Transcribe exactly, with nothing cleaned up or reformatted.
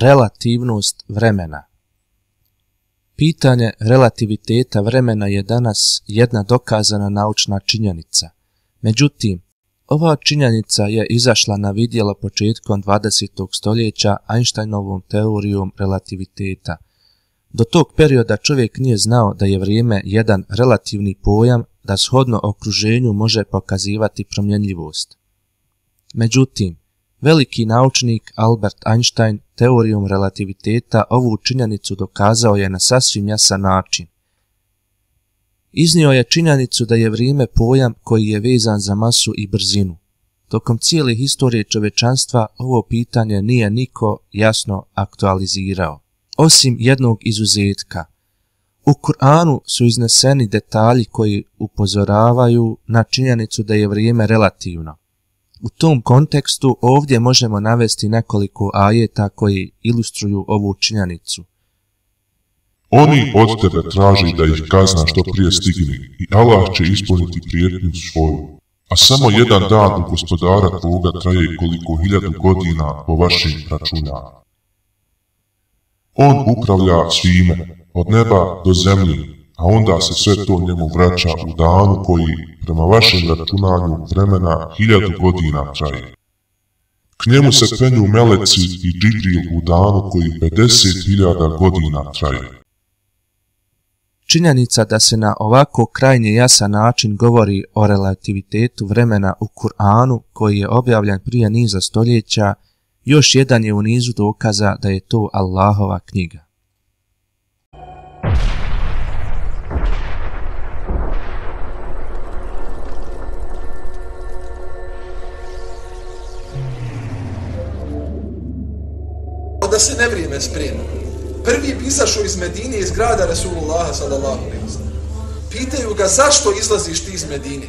Relativnost vremena. Pitanje relativiteta vremena je danas jedna dokazana naučna činjenica. Međutim, ova činjenica je izašla na vidjelo početkom dvadesetog stoljeća Einsteinovom teorijom relativiteta. Do tog perioda čovjek nije znao da je vrijeme jedan relativni pojam da shodno okruženju može pokazivati promjenljivost. Međutim, veliki naučnik Albert Einstein teorijom relativiteta ovu činjenicu dokazao je na sasvim jasan način. Iznio je činjenicu da je vrijeme pojam koji je vezan za masu i brzinu. Tokom cijele historije čovečanstva ovo pitanje nije niko jasno aktualizirao, osim jednog izuzetka. U Kur'anu su izneseni detalji koji upozoravaju na činjenicu da je vrijeme relativno. U tom kontekstu ovdje možemo navesti nekoliko ajeta koji ilustruju ovu činjenicu. Oni od tebe traži da ih kazna što prije stigne i Allah će ispuniti prijetnju svoju. A samo jedan dan u gospodara tvoga traje koliko hiljadu godina po vašim računama. On upravlja svime, od neba do zemlje, a onda se sve to njemu vraća u danu koji, prema vašem računanju vremena, hiljadu godina traje. K njemu se penju meleci i Džibril u danu koji pedeset hiljada godina traje. Činjenica da se na ovako krajnje jasan način govori o relativitetu vremena u Kur'anu, koji je objavljen prije niza stoljeća, još jedan je u nizu dokaza da je to Allahova knjiga. Da se ne vrijeme sprema. Prvi pisašu iz Medine iz grada Resulullaha sallallahu alejhi ve sellem. Pitaju ga zašto izlaziš ti iz Medine?